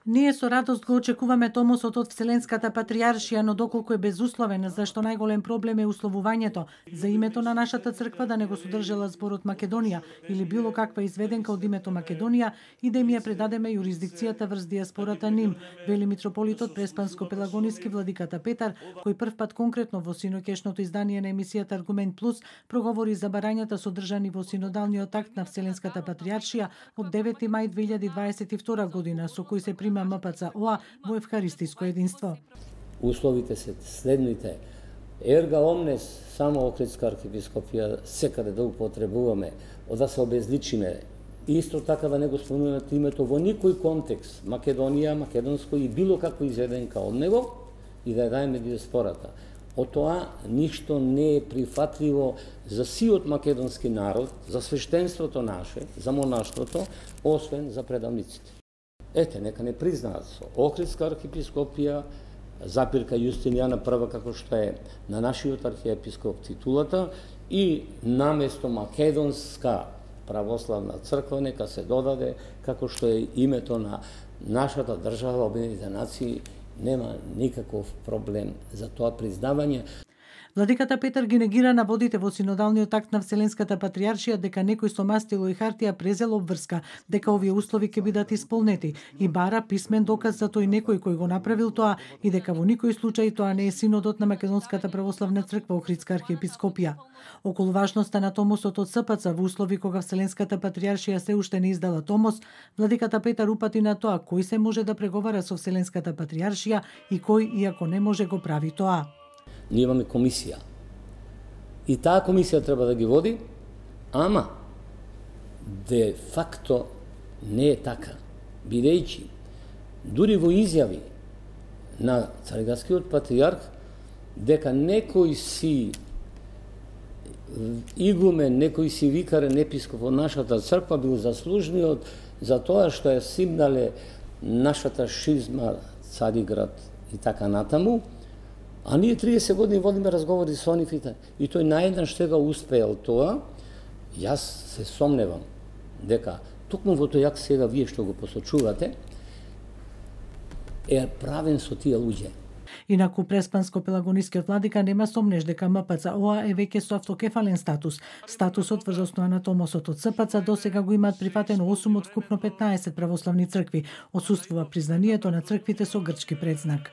Ние со радост го очекуваме томосот од Вселенската патријаршија, но доколку е безусловен, зашто најголем проблем е условувањето за името на нашата црква да не го содржала зборот Македонија или било каква изведенка од името Македонија и да им ја предадеме јурисдикцијата врз дијаспората ним, вели митрополитот Преспанско-Пелагониски владиката Петар, кој првпат конкретно во синоќешното издание на емисијата Аргумент Плюс проговори за барањата содржани во синодалниот акт на Вселенската патријаршија од 9 мај 2022 година, со кој се прима МПЦ-ОА во евхаристиско единство. Условите се следните. Ерга омнес, само Охридска архиепископија, секаде да употребуваме, да се обезличиме. Исто така да не го спомнуваме името во никој контекст, Македонија, македонско и било како изведенка од него, и да ја даеме диаспората. Од тоа ништо не е прифатливо за сиот македонски народ, за свештенството наше, за монаштвото, освен за предавниците. Ете, нека не признаат со Охридска архиепископија, запирка Јустинијана прва, како што е на нашиот архиепископ титулата, и наместо Македонска православна црква нека се додаде, како што е името на нашата држава, Обединетите нации, нема никаков проблем за тоа признавање. Владиката Петар ги негира наводите во синодалниот акт на Вселенската патријаршија дека некој со мастило и хартија презел обврска дека овие услови ќе бидат исполнети и бара писмен доказ за тој некој кој го направил тоа и дека во никој случај тоа не е синодот на Македонската православна црква Охридска архиепископија. Околу важноста на томосот од СПЦ во услови кога Вселенската патријаршија се уште не издала томос, владиката Петар упати на тоа кој се може да преговара со Вселенската патријаршија и кој, иако не може, го прави тоа. Ние имаме комисија. И таа комисија треба да ги води, ама де факто не е така. Бидејќи дури во изјави на цариградскиот патријарх дека некој си игумен, некој си викарен епископ од нашата црква бил заслужниот за тоа што е симнале нашата шизма, Цариград и така натаму. А ние 30 години водиме разговори со нив и тој наеднаш сега успеел тоа. Јас се сомневам дека токму во тој акт сега вие што го посочувате е правен со тие луѓе. Инаку Преспанско-Пелагонискиот владика нема сомнеж дека МПЦ-ОА е веќе со автокефален статус. Статусот врз основа на томосот од СПЦ досега го имаат прифатено 8 од вкупно 15 православни цркви. Отсуствува признанието на црквите со грчки претзнак.